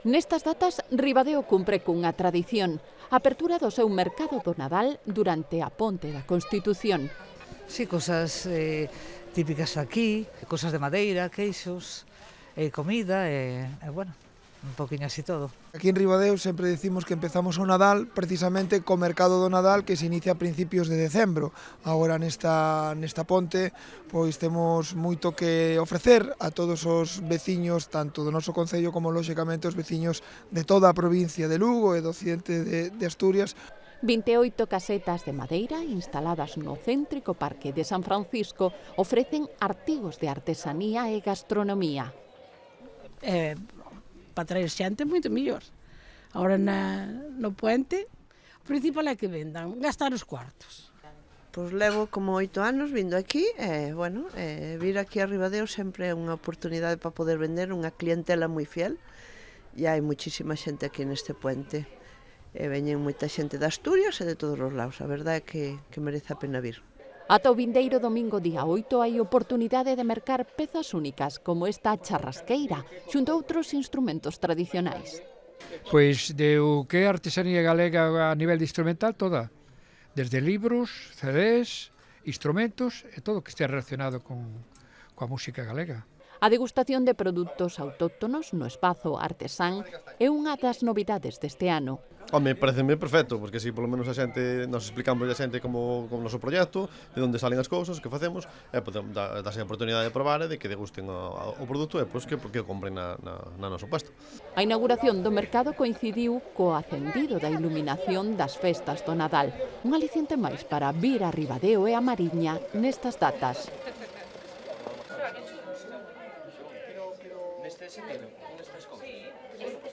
Nestas datas, Ribadeo cumpre cunha tradición, a apertura do seu mercado do Nadal durante a Ponte da Constitución. Sí, cosas típicas aquí, cosas de madeira, queixos, comida, bueno, un poquinho así todo. Aquí en Ribadeo sempre decimos que empezamos o Nadal precisamente co mercado do Nadal que se inicia a principios de decembro. Agora nesta ponte pois temos moito que ofrecer a todos os veciños tanto do noso concello como lóxicamente os veciños de toda a provincia de Lugo e do occidente de Asturias. 28 casetas de madeira instaladas no céntrico Parque de San Francisco ofrecen artigos de artesanía e gastronomía. Para traer xente moito mellor. Agora no puente, o principal é que vendan, gastar os cuartos. Pois levo como 8 anos vindo aquí e, vir aquí a Ribadeo sempre é unha oportunidade para poder vender unha clientela moi fiel e hai muchísima xente aquí neste puente. Veñen moita xente de Asturias e de todos os lados, a verdade é que merece a pena vir. Ata o vindeiro domingo día 8 hai oportunidade de mercar pezas únicas como esta charrasqueira, xunto a outros instrumentos tradicionais. Pois de o que é artesanía galega a nivel de instrumental toda, desde libros, CDs, instrumentos e todo o que estea relacionado coa música galega. A degustación de produtos autóctonos no espazo artesán é unha das novidades deste ano. Home, pareceme perfecto, porque así polo menos a xente, nos explicamos a xente como o noso proxecto, de onde salen as cousas, que facemos, e podemos darse a oportunidade de probar e de que degusten o produto e pois, que o compren na noso puesto. A inauguración do mercado coincidiu co acendido da iluminación das festas do Nadal, un aliciente máis para vir a Ribadeo e a Mariña nestas datas. Neste sentido, neste escopo.